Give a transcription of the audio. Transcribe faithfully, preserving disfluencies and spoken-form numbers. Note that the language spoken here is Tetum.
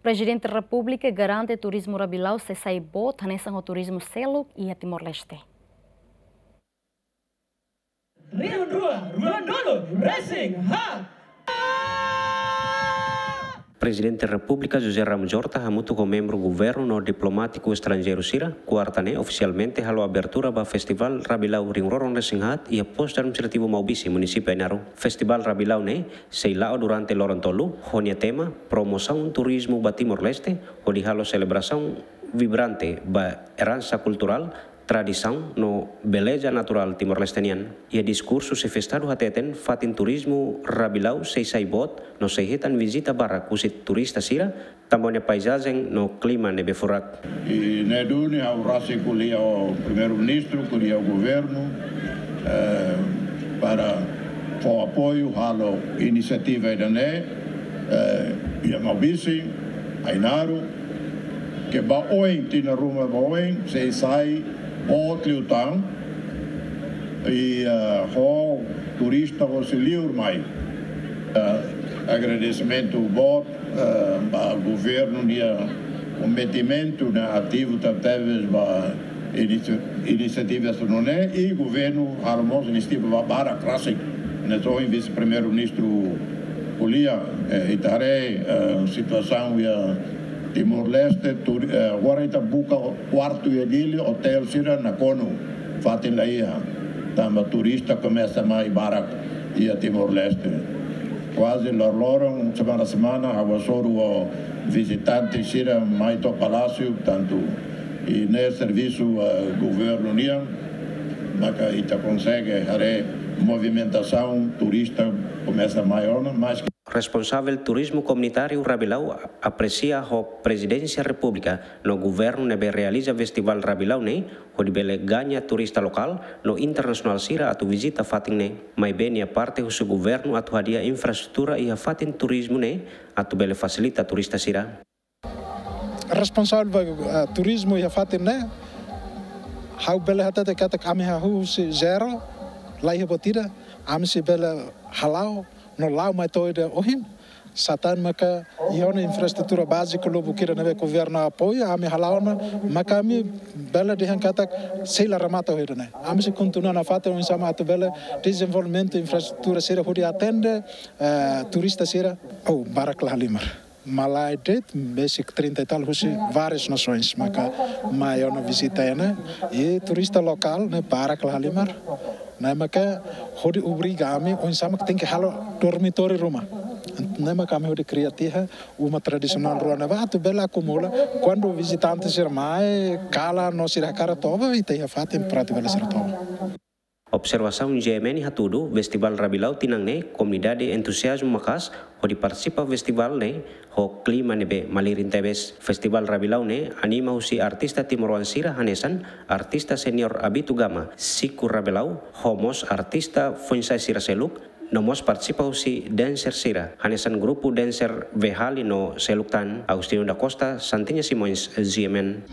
Prezidente Repúblika garante turizmu Rabilau sei sai boot hanesan ho turizmu seluk iha Timor-Leste. Rihun rua, ruanulu, resin haat. Prezidente Repúblika José Ramos Horta hamutuk ho membru governu no diplomátiku estranjeiru sira, kuarta ne'e ofisialmente halo abertura ba Festivál Rabilau rihun rua ruanulu resin haat iha Postu Administrativu Maubisse, Munisípiu Ainaro. Festivál Rabilau ne'e sei la'o durante loron tolu, ho nia tema Promosaun Turizmu ba Timor-Leste, hodi halo selebrasaun vibrante ba eransa kulturál, tradisaun no beleza naturál Timor-Leste nian. Iha diskursu xefe Estadu hateten fatin turizmu Rabilau sei sai boot no sei hetan vizita barak husi turista sira, tanba nia paizajen no klima ne'ebé furak. I ne'e duni ha'u rasik ko'alia ho Primeiru-Ministru, ko'alia ho governu, eh, para fó apoiu halo inisiativa ida-ne'e, eh, iha Maubisse, Ainaro, ke ba oin, tinan ruma ba oin, sei sai boot liután, i, eh, ho turista hosi liur mai. Eh, agradesimentu boot, eh, ba governu nia komprometimentu ne'e ativu tebetebes ba inisi-, inisiativa sira-ne'e, i governu halo mós inisiativa ba barak rasik. Ne'e ohin Vise-Primeiru-Ministru ko'alia, eh, ita haree, eh, situasaun iha Timor-Leste, tur-, eh, agora ita buka kuartu iha Dili, otél sira nakonu, fatin la iha, tanba turista komesa mai barak iha Timor-Leste. Kuaze loroloron, semana-semana, ha'u hasoru ho vizitante sira mai to'o Palásiu, tantu, i ne'e servisu, eh, governu nian, maka ita konsege haree movimentasaun turista komesa mai ona, mas Responsavel Turizmu Komunitáriu Rabilau apresia ho Prezidénsia Repúblika no governu ne'ebé realiza Festivál Rabilau ne'e, hodi bele gaña turista lokál no internasionál sira atu vizita fatin ne'e. Maibé nia parte husu governu atu hadi'a infraestrutura iha fatin turizmu ne'e atu bele fasilita turista sira. Responsavel ba, eh, turizmu iha fatin ne'e, ha'u bele hatete katak ami hahú husi zero, la iha buat ida, ami sei bele hala'o, no la'o mai to'o ida ohin, satán maka iha ona infraestrutura báziku lubuk ida ne'ebé governu apoiu, ami hala'o ona, maka ami bele dehan katak sei la remata ho ida-ne'e. Ami sei kontinua nafatin oinsá mak atu bele dezenvolvimentu infraestrutura sira hodi atende, eh, turista sira, oh, barak la halimar. Malae de'it, besik trinta e tal husi várias nações, maka mai ona vizita iha ne'e, i turista lokál ne'e barak la halimar. Ne'e maka hodi obriga ami, oinsá mak tenke halo dormitóriu ruma. Ne'e maka ami hodi kria tiha uma tradisionál rua ne'ebá atu bele akumula, kuandu vizitante sira mai, kalan no sira hakarak toba, ita iha fatin para atu bele sira toba. Observasaun G M N hatudu, Festivál Rabilau tinan ne'e, komunidade entuziazmu maka'as hodi partisipa festivál ne'e ho klima ne'ebé malirin tebes. Festivál Rabilau ne'e anima husi artista timoroan sira hanesan artista senior Abito Gama, Siku Rabilau, ho mós artista foin-sa'e sira seluk, no mós partisipa husi dancer sira hanesan grupu dancer Vehali no seluk tan. Agostinho da Costa, Santinha Simões, G M N.